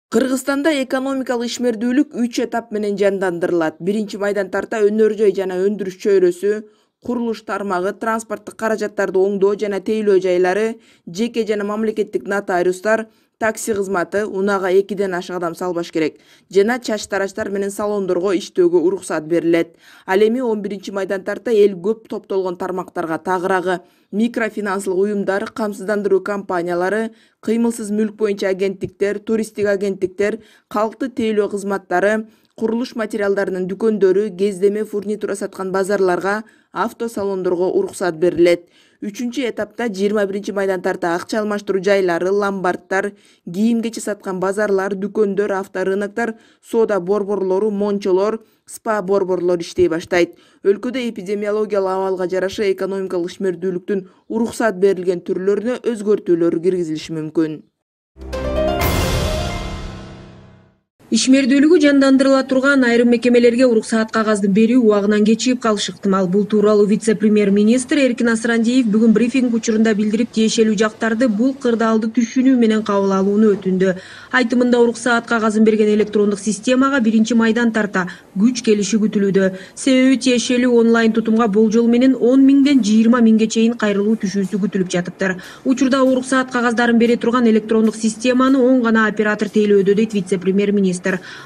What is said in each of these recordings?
Кыргызстанда экономикалык ишмердүүлүк 3 этап менен жандандырылат. Биринчи майдан тарта өнөр-жай жана өндүрүш чөйрөсү, курулуш тармагы, транспорттук каражаттарды оңдоо жана тейлөө жайлары, жеке жана мамлекеттик нотариустар, такси кызматы, унаага 2ден ашык адам салбаш керек жана чач тараштар менен салондорго иштөөгө уруксат берилет. Ал эми 11 майдан тарта эл көп топтолгон тармактарга тагыраагы микрофинанслык уюмдар, камсыздандыруу компаниялары, кыймылсыз мүлк боюнча агенттиктер, туристтик агенттиктер, калкты тейлөө кызматтары, курулуш материалдарынын дүкөндөрү, кездеме фурнитура саткан базарларга, автосалондорго уруксат берилет. 3 этапта 21 майдан тарта акча алмаштыруу жайлары, ломбарддар, кийим-кечи саткан базарлар, дүкөндөр, авторыноктор, соода борборлору, мончолор, спа борборлор иштей баштайт. Өлкөдө эпидемиологиялык абалга жараша экономикалык ишмердүүлүктүн уруксат берилген түрлөрүнө өзгөртүүлөр киргизилиши мүмкүн. Ишмердүүлүгү жандандырыла турган айрым мекемелерге уруксаат кагаздын берүү убагынан кечигип калышы ыктымал. Бул тууралуу вице-премьер-министр Эркин Асрандиев бүгүн брифинг учурунда билдирип, тиешелүү жактарды бул кырдаалды түшүнүү менен кабыл алууну өтүндү. Айтымында уруксаат кагазын берген электрондук системага 1 майдан тарта күч келиши күтүлүүдө. Себеби тиешелүү онлайн тутумга болжол менен 10 миңден 20 миңге чейин кайрылуу түшүүсү күтүлүп жатыптыр. Учурда уруксаат кагаздарын бере турган электрондук системаны оң гана оператор тейлөөдө, дейт вице-премьер-министр.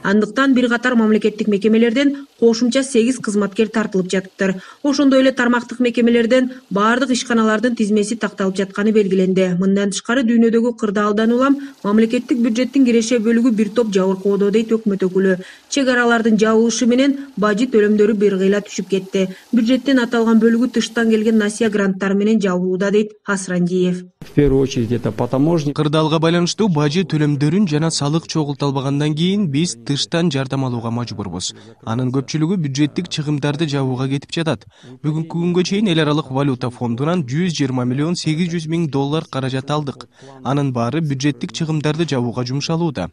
Андыктан бир катар мамлекеттик мекемелерден кошумча 8 кызматкер тартылып жатыптыр. Ошондой эле тармактык мекемелерден бардык ишканалардын тизмеси такталып жатканы белгиленди. Мындан тышкары дүйнөдөгү кырдаалдан улам мамлекеттик бюджеттин киреше бөлүгү бир топ жабыркоодо, дейт өкмөт өкүлү. Чек аралардын жабылышы менен бажы төлөмдөрү бир кыйла түшүп кетти. Бюджеттин аталган бөлүгү тыштан келген насыя гранттары менен жабылууда, дейт Асрандиев. В первую очередь это по таможне. Кырдаалга байланыштуу бажы төлөмдөрүн жана салык чогулталбагандан кийин биз тыштан жардам алууга мажбурбуз. Анын көпчүлүгү бюджеттик чыгымдарды жабууга кетип жатат. Бүгүнкү күнгө чейин эл аралык валюта фондунан 120 миллион 800 миң доллар каражат алдык. Анын баары бюджеттик чыгымдарды жабууга жумшалууда.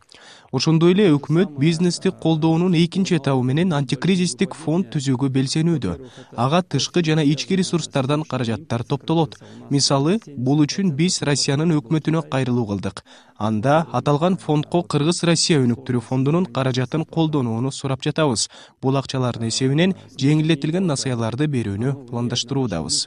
Ошондой эле өкмөт бизнести колдоонун экинчи этабы менен антикризистик фонд түзүүгө белсенүүдө. Ага тышкы жана ички ресурстардан каражаттар топтолот. Мисалы, бул үчүн биз Россиянын өкмөтүнө кайрылуу кылдык. Анда аталган фондко Кыргыз-Россия өнүктүрүү фондунун каражатын колдонууну сурап жатабыз. Бул акчалардын эсебинен жеңилдетилген насыяларды берүүнү пландаштыруудабыз.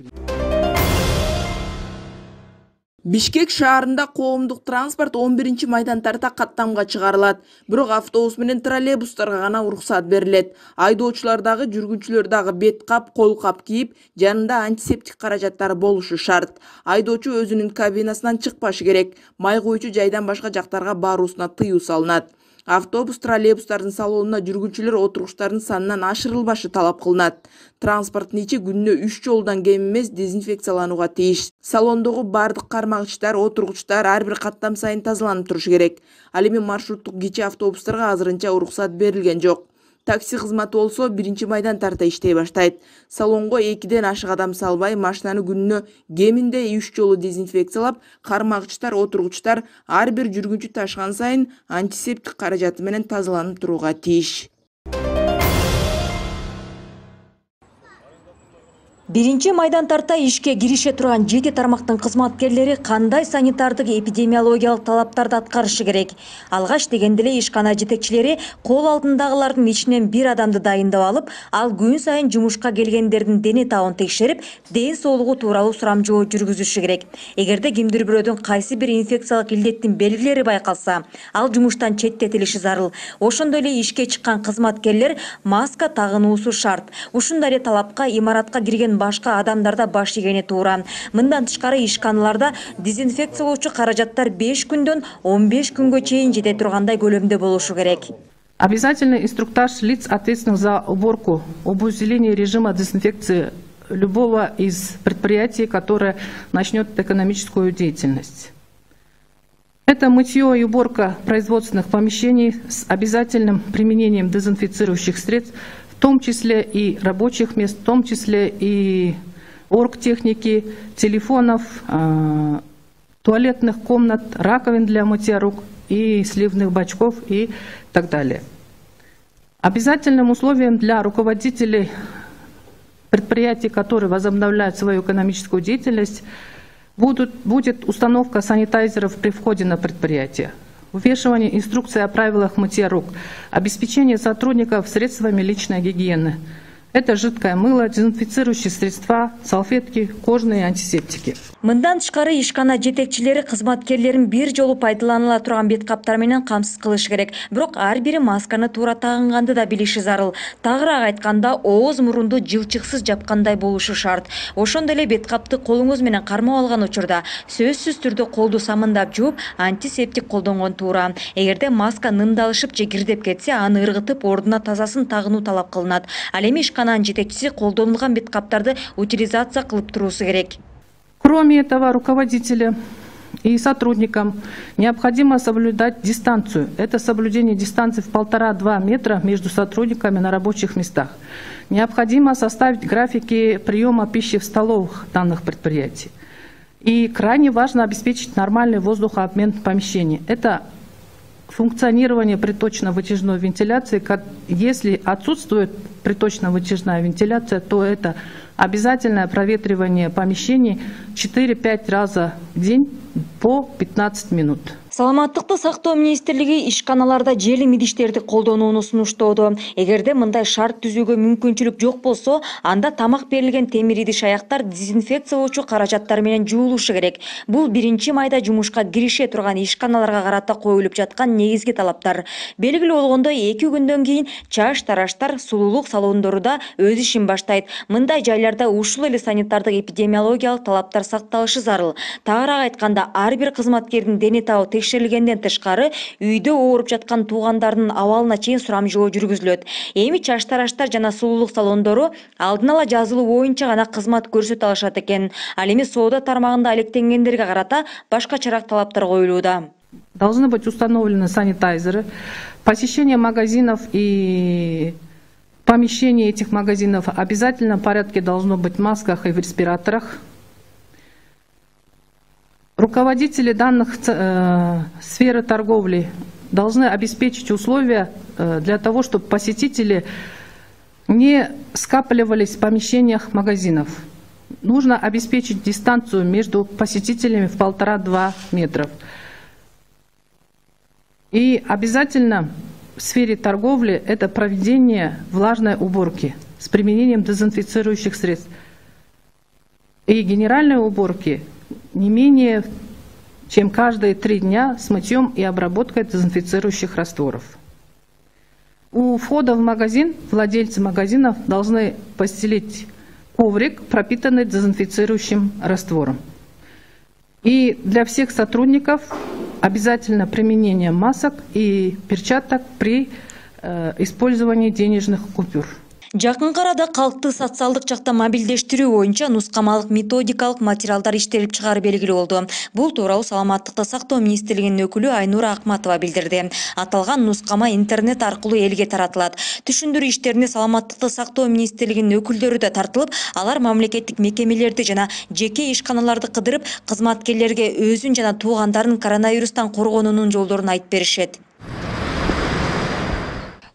Бишкек шаарында коомдук транспорт 11 майдан тарта каттамга чыгарылат. Бирок автобус менен троллейбустарга гана уруксат берилет. Айдоочулар дагы, жүргүнчүлөр дагы бет кап, кол кап кийип, жанында антисептик каражаттары болушу шарт. Айдоочу өзүнүн кабинасынан чыкпашы керек. Май куючу жайдан башка жактарга баруусуна тыюу салынат. Автобус, троллейбустардын салонуна жүргүнчүлөр отургучтардын санынан ашырылбашы талап кылынат. Транспорттун ичи күнүнө 3 жолудан кем эмес дезинфекцияланууга тийиш. Салондогу бардык кармагычтар, отургучтар ар бир каттам сайын тазаланып турушу керек. Ал эми маршруттук кичи автобустарга азырынча уруксат берилген жок. Такси кызматы болсо 1 майдан тарта иштей баштайт. Салонго 2ден ашык адам салбай, машинаны күнүнө кеминде 3 жолу дезинфекциялап, кармагычтар, отургучтар ар бир жүргүнчү ташкан сайын антисептик каражаты менен тазаланып турууга тийиш. 1 майдан тарта ишке кирише турган 7 тармактын кызматкерлери кандай санитардык эпидемиологиялык талаптарды аткарышы керек? Алгаш дегенде эле ишкана жетекчилери кол алдындагылардын ичинен бир адамды дайындап алып, ал күн сайын жумушка келгендердин дене табын текшерип, ден соолугу тууралуу сурамжоо жүргүзүшү керек. Эгерде кимдир бирөөдөн кайсы бир инфекциялык илдеттин белгилери байкалса, ал жумуштан четтетилиши зарыл. Ошондой эле ишке чыккан кызматкерлер маска тагынуусу шарт. Ушундай эле талапка имаратка кирген башка адамдарда баш ийгени туура. Мындан тышкары ишканаларда дезинфекциялоочу каражаттар 5 күндөн 15 күнгө чейин жете тургандай көлөмдө болушу керек. Обязательный инструктаж лиц, ответственных за уборку, об усилении режима дезинфекции любого из предприятий, которое начнет экономическую деятельность. Это мытье и уборка производственных помещений с обязательным применением дезинфицирующих средств, в том числе и рабочих мест, в том числе и оргтехники, телефонов, туалетных комнат, раковин для мытья рук и сливных бачков и так далее. Обязательным условием для руководителей предприятий, которые возобновляют свою экономическую деятельность, будет установка санитайзеров при входе на предприятие. вывешивание инструкции о правилах мытья рук, обеспечение сотрудников средствами личной гигиены. Это жидкое мыло, дезинфицирующие средства, салфетки, кожные антисептики. Мындан тышкары ишкана жетекчилери кызматкерлерин бир жолу пайдаланыла турган бет каптар менен камсыз кылыш керек. Бирок ар бири масканы туура тагынганды да билиши зарыл. Тагыраак айтканда, ооз мурунду жылчыксыз жапкандай болушу шарт. Ошондой эле бет капты колуңуз менен кармап алган учурда сөзсүз түрдө колду самындап жууп, антисептик колдонгон туура. Эгерде маска нымдалышып же кирдеп кетсе, аны ыргытып, ордуна тазасын тагынуу талап кылынат. Ал эми ишкананын жетекчиси колдонулган бет каптарды утилизация кылып туруусу керек. Кроме этого, руководителям и сотрудникам необходимо соблюдать дистанцию. Это соблюдение дистанции в 1,5–2 метра между сотрудниками на рабочих местах. Необходимо составить графики приема пищи в столовых данных предприятий. И крайне важно обеспечить нормальный воздухообмен в помещении. Это функционирование приточно-вытяжной вентиляции. Если отсутствует приточно-вытяжная вентиляция, то это обязательное проветривание помещений 4–5 раза в день по 15 минут. Саламаттыкты сактоо министрлиги ишканаларда желим идиштерди колдонууну сунуштоодо. Эгерде мындай шарт түзүүгө мүмкүнчүлүк жок болсо, анда тамак берилген темир идиш аяктар дезинфекциялоочу каражаттар менен жуулушу керек. Бул 1 майда жумушка кирише турган ишканаларга карата коюлуп жаткан негизги талаптар. Белгилүү болгондой, 2 күндөн кийин чаш тараштар сулуулук салондору да өз ишин баштайт. Мындай жайларда ушул эле санитардык эпидемиологиялык талаптар сакталышы зарыл. Тагыраак айтканда, ар бир кызматкердин дени табы текшерилгенден тышкары үйдө ооруп жаткан туугандардын абалына чейин сурамжылоо жүргүзүлөт. Эми чаш тараштар жана сулуулук салондору алдын ала жазылуу боюнча гана кызмат көрсөтө алышат экен. Ал эми соода тармагында алектенгендерге карата башкачараак талаптар коюлууда. Должны быть установлены санитайзеры. Посещение магазинов и помещение этих магазинов в обязательном порядке должно быть в масках и в респираторах. Руководители данных сферы торговли должны обеспечить условия для того, чтобы посетители не скапливались в помещениях магазинов. Нужно обеспечить дистанцию между посетителями в 1,5–2 метра. И обязательно в сфере торговли это проведение влажной уборки с применением дезинфицирующих средств. И генеральной уборки не менее чем каждые 3 дня с мытьем и обработкой дезинфицирующих растворов. У входа в магазин владельцы магазинов должны постелить коврик, пропитанный дезинфицирующим раствором. И для всех сотрудников обязательно применение масок и перчаток при использовании денежных купюр. Жакынкы арада калкты социалдык жакта мобилдештирүү боюнча нускамалык методикалык материалдар иштелип чыгары белгилүү болду. Бул тууралуу Саламаттыкты сактоо министрлигинин өкүлү Айнура Акматова билдирди. Аталган нускама интернет аркылуу элге таратылат. Түшүндүрүү иштерине Саламаттыкты сактоо министрлигинин өкүлдөрү да тартылып, алар мамлекеттик мекемелерди жана жеке ишканаларды кыдырып, кызматкерлерге өзүн жана туугандарын коронавирустан коргоонунун жолдорун айтып беришет.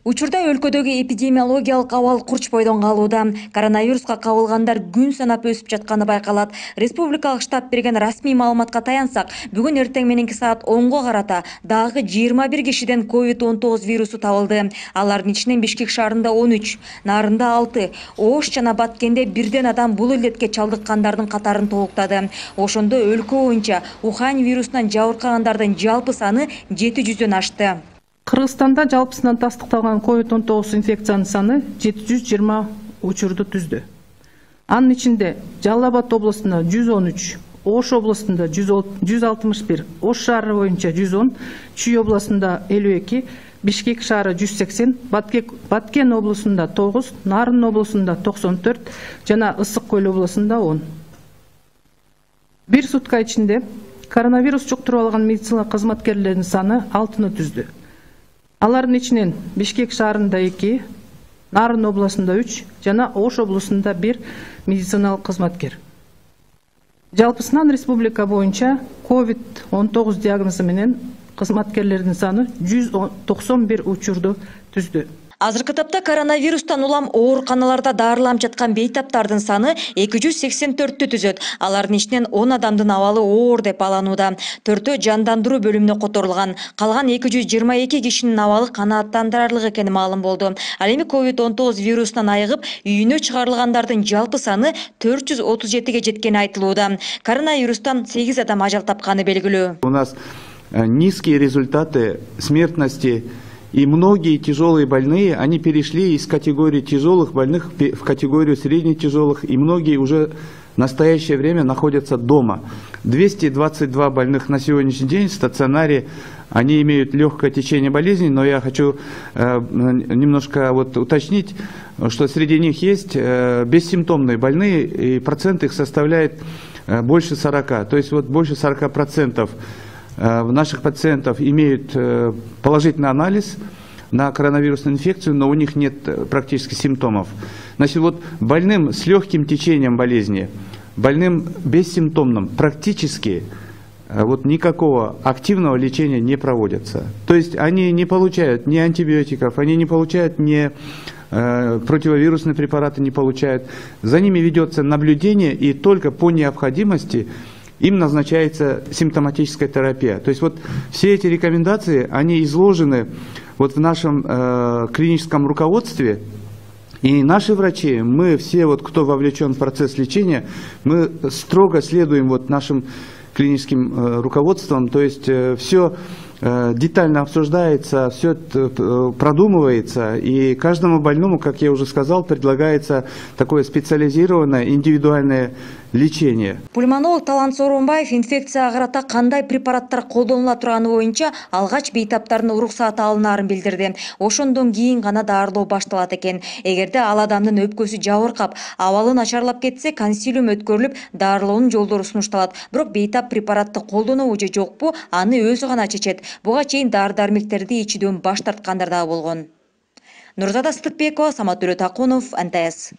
Учурда өлкөдөгү эпидемиологиялык абал курч бойдон калууда. Коронавируска кабылгандар күн санап өсүп жатканы байкалат. Республикалык штаб берген расмий маалыматка таянсак, бүгүн эртең мененки саат 10го карата дагы 21 кишиден COVID-19 вирусу табылды. Алардын ичинен Бишкек шаарында 13, Нарында 6, Ош жана Баткенде бирден адам бул илдетке чалдыккандардын катарын толуктады. Ошондо өлкө боюнча Ухань вирусунан жабыркагандардын жалпы саны 700дөн ашты. Кыргызстанда жалпысынан тастыкталган COVID-19 инфекциянын саны 720 учурду түздү. Анын ичинде Жалал Абад областында 113, Ош областында 161, Ош шаары боюнча 110, Чүй областында 52, Бишкек шаары 180, Баткен областында 9, Нарын областында 94 жана Ысык Көл областында 10. Бир сутка ичинде коронавирус жуктуруп алган медицина кызматкерлеринин саны 6-ны түздү. Алардын ичинен Бишкек шаарында 2, Нарын областында 3 жана Ош областында 1 медициналык кызматкер. Жалпысынан республика боюнча COVID-19 диагнозу менен кызматкерлердин саны 191 учурду түздү. Азыркы тапта коронавирустан улам ооруканаларда дарыланып жаткан бейтаптардын саны 284-тү түзөт. Алардын ичинен 10 адамдын абалы оор деп баланууда. 4-өө жандандыруу бөлүмүнө которулган. Калган 222 кишинин абалы канааттандырарлык экени маалым болду. Ал эми COVID-19 вирусунан айыгып, үйүнө чыгарылгандардын жалпы саны 437-ге жеткени айтылууда. Коронавирустан 8 адам ажал тапканы белгилүү. У нас низкие результаты смертности. И многие тяжелые больные, они перешли из категории тяжелых больных в категорию средне-тяжелых, и многие уже в настоящее время находятся дома. 222 больных на сегодняшний день в стационаре, они имеют легкое течение болезни, но я хочу немножко уточнить, что среди них есть бессимптомные больные, и процент их составляет больше 40, то есть больше 40%. Наших пациентов имеют положительный анализ на коронавирусную инфекцию, но у них нет практически симптомов. Значит, больным с легким течением болезни, больным бессимптомным практически никакого активного лечения не проводится. То есть они не получают ни антибиотиков, они не получают ни противовирусные препараты не получают. За ними ведется наблюдение, и только по необходимости им назначается симптоматическая терапия. То есть все эти рекомендации, они изложены в нашем клиническом руководстве. И наши врачи, мы все, кто вовлечен в процесс лечения, мы строго следуем нашим клиническим руководством. То есть все детально обсуждается, все продумывается, и каждому больному, как я уже сказал, предлагается такое специализированное, индивидуальное лечение. Пульмонолог Талант Сооронбаев инфекцияга карата кандай препараттар колдонула турганы боюнча алгач бейтаптардын уруксааты алынаарын билдирди. Ошондон кийин гана дарылоо башталат экен. Эгерде ал адамдын өпкөсү жабыркап, абалы начарлап кетсе, консилиум өткөрүлүп, дарылоонун жолдору сунушталат. Бирок бейтап препаратты колдонобу же жокпу, аны өзү гана чечет. Буга чейин дары-дармектерди ичүүдөн баш тарткандар да болгон. Нурзада Сыдыкбекова, Самат Төлөтакунов, НТС.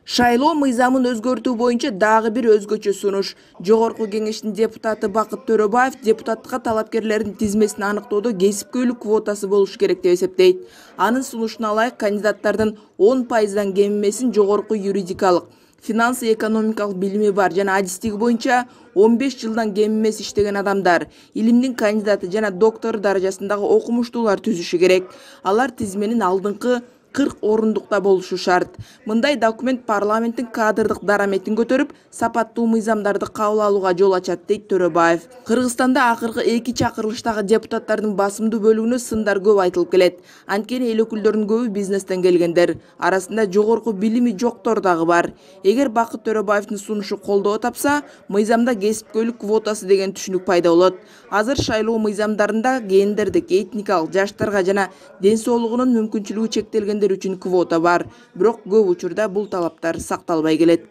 Шайлоо мыйзамын өзгөртүү боюнча дагы бир өзгөчө сунуш. Жогорку кеңештин депутаты Бакыт Төрөбаев депутаттыкка талапкерлердин тизмесин аныктоодо кесипкөйлүк квотасы болуш керек деп эсептейт. Анын сунушуна ылайык кандидаттардын 10%дан кем эмесин жогорку юридикалык, финансы экономикалык билими бар жана адистиги боюнча 15 жылдан кем эмес иштеген адамдар, илимдин кандидаты жана доктор даражасындагы окумуштуулар түзүшү керек. Алар тизменин алдыңкы 40 орундукта болушу шарт. Мындай документ парламенттин кадрдык дараметин көтөрүп, сапаттуу мыйзамдарды кабыл алууга жол ачат, дейт Төрөбаев. Кыргызстанда акыркы 2 чакырылыштагы депутаттардын басымдуу бөлүгүнө сындар көп айтылып келет. Анткени эл өкүлдөрүнүн көбү бизнестен келгендер. Арасында жогорку билими жоктор дагы бар. Эгер Бакыт Төрөбаевдин сунушу колдоо тапса, мыйзамда кесипкөйлүк квотасы деген түшүнүк пайда болот. Азыр шайлоо мыйзамдарында гендердик, этникалык, жаштарга жана ден соолугунун мүмкүнчүлүгү чектелгендер үчүн квота бар. Бирок көп учурда бул талаптар сакталбай келет.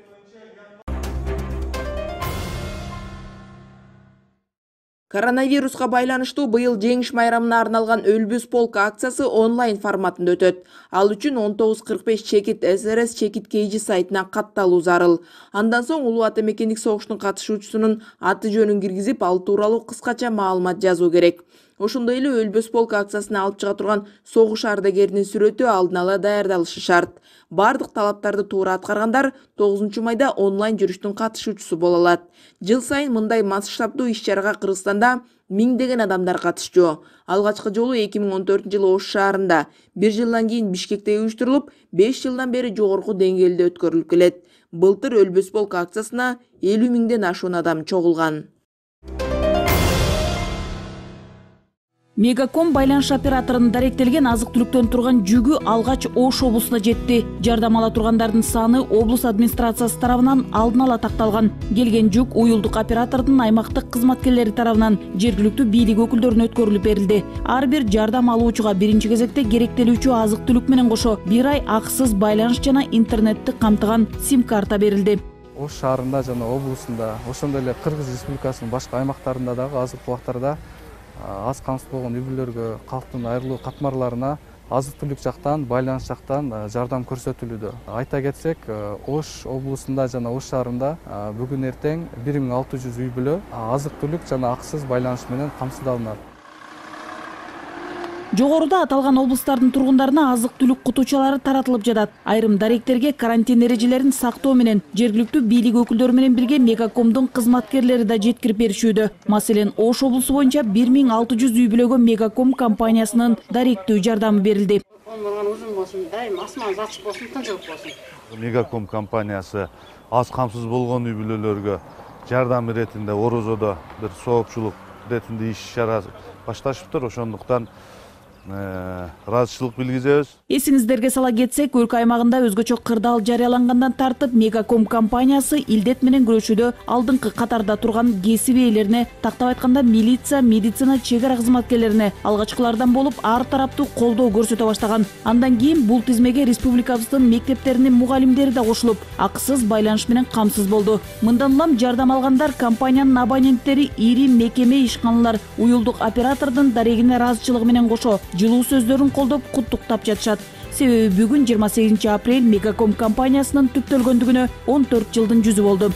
Коронавируска байланыштуу быйыл жеңиш майрамына арналган Өлбөс полк акциясы онлайн форматында өтөт. Ал үчүн 1945 чекит СРС чекит KG сайтына катталуу зарыл. Андан соң Улуу Ата Мекендик согуштун катышуучусунун аты жөнүн киргизип, ал тууралуу кыскача маалымат жазуу керек. Ошондой эле Өлбөс полк акциясына алып чыга турган согуш ардагеринин сүрөтү алдын ала даярдалышы шарт. Бардык талаптарды туура аткаргандар 9 майда онлайн жүрүштүн катышуучусу боло алат. Жыл сайын мындай масштабдуу иш-чарага Кыргызстанда миңдеген адамдар катышчу. Алгачкы жолу 2014-жылы Ош шаарында, 1 жылдан кийин Бишкекте уюштурулуп, 5 жылдан бери жогорку деңгээлде өткөрүлүп келет. Былтыр Өлбөс полк акциясына 50 миңден ашуун адам чогулган. Мегаком байланыш операторунун даректелген азык-түлүктөн турган жүгү алгач Ош облусуна жетти. Жардам ала тургандардын саны облус администрациясы тарабынан алдын ала такталган. Келген жүк уюлдук оператордун аймактык кызматкерлери тарабынан жергиликтүү бийлик өкүлдөрүнө өткөрүлүп берилди. Ар бир жардам алуучуга биринчи кезекте керектелүүчү азык-түлүк менен кошо 1 ай акысыз байланыш жана интернетти камтыган сим-карта берилди. Ош шаарында жана облусунда, ошондой эле Кыргыз Республикасынын башка аймактарында дагы азыркы убактарда аз камсыз болгон үй бүлөлөргө, калктын айрылуу катмарларына азык-түлүк жактан, байланыш жактан жардам көрсөтүлүүдө. Айта кетсек, Ош облусунда жана Ош шаарында бүгүн эртең 1600 үй бүлө азык-түлүк жана акысыз байланыш менен камсыздалынат. Жогоруда аталган облустардын тургундарына азык-түлүк кутучалары таратылып жатат. Айрым даректерге карантин эрежелерин сактоо менен жергиликтүү бийлик өкүлдөрү менен бирге Мегакомдун кызматкерлери да жеткирип беришүүдө. Маселен, Ош облусу боюнча 1600 үй бүлөгө Мегаком компаниясынын даректүү жардамы берилди. Мегаком компаниясы аз камсыз болгон үй бүлөлөргө жардам иретинде орозодо бир соопчулук иретинде иш чара башташыптыр. Ошондуктан ыраазычылык билгизебиз. Эсиңиздерге сала кетсек, өлкө аймагында өзгөчө кырдаал жарыялангандан тартып Мегаком компаниясы илдет менен күрөшүүдө алдыңкы катарда турган кесип ээлерине, тактап айтканда милиция, медицина, чек ара кызматкерлерине алгачкылардан болуп ар тараптуу колдоо көрсөтө баштаган. Андан кийин бул тизмеге республикабыздын мектептеринин мугалимдери да кошулуп, акысыз байланыш менен камсыз болду. Мындан улам жардам алгандар компаниянын абоненттери ири мекеме, ишканалар, уюлдук оператордун дарегине ыраазычылыгы менен кошо жылуу сөздөрүн колдоп куттуктап жатышат. Себеби бүгүн 28 апрель Мегаком компаниясынын түптөлгөндүгүнө 14 жылдын жүзү болду.